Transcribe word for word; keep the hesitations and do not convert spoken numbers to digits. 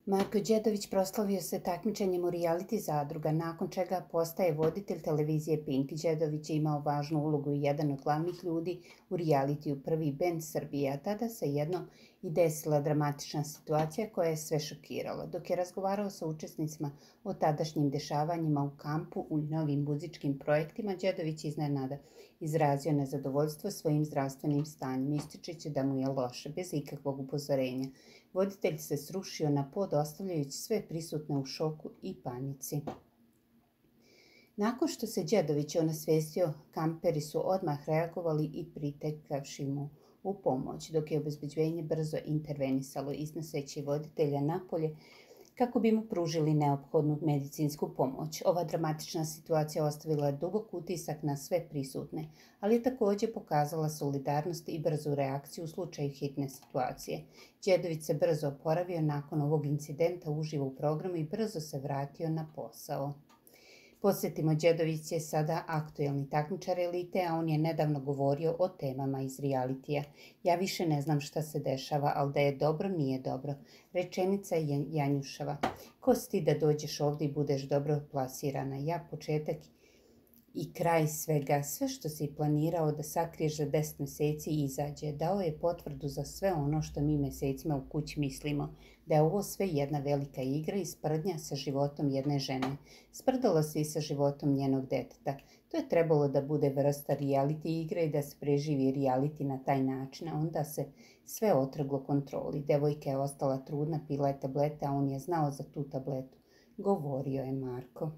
Marko Đedović proslavio se takmičenjem u reality zadruga, nakon čega postaje voditelj televizije Pink. Đedović je imao važnu ulogu i jedan od glavnih ljudi u realitiju Prvi bend Srbije, a tada se jednom i desila dramatična situacija koja je sve šokirala. Dok je razgovarao sa učesnicima o tadašnjim dešavanjima u kampu u novim muzičkim projektima, Đedović iznenada izrazio nezadovoljstvo svojim zdravstvenim stanjem, ističući da mu je loše, bez ikakvog upozorenja. Voditelj se srušio na pod, ostavljajući sve prisutne u šoku i panici. Nakon što se Đedović onasvestio, kamperi su odmah reagovali i pritekavši mu u pomoć, dok je obezbeđenje brzo intervenisalo, iznoseći voditelja napolje kako bi mu pružili neophodnu medicinsku pomoć. Ova dramatična situacija ostavila dubok utisak na sve prisutne, ali je također pokazala solidarnost i brzu reakciju u slučaju hitne situacije. Đedović se brzo oporavio nakon ovog incidenta uživo u programu i brzo se vratio na posao. Podsjetimo, Đedović je sada aktuelni takmičar elite, a on je nedavno govorio o temama iz realitija. Ja više ne znam šta se dešava, ali da je dobro, nije dobro. Rečenica je Janjuševa. Ko si ti da dođeš ovdje i budeš dobro plasirana? Ja početak i kraj svega, sve što si planirao da sakriješ za deset mjeseci izađe. Dao je potvrdu za sve ono što mi mjesecima u kući mislimo, da je ovo sve jedna velika igra i sprdnja sa životom jedne žene. Sprdalo se i sa životom njenog deteta. To je trebalo da bude vrsta reality igre i da se preživi reality na taj način, a onda se sve otrglo kontroli. Devojka je ostala trudna, pila je tablete, a on je znao za tu tabletu. Govorio je Marko.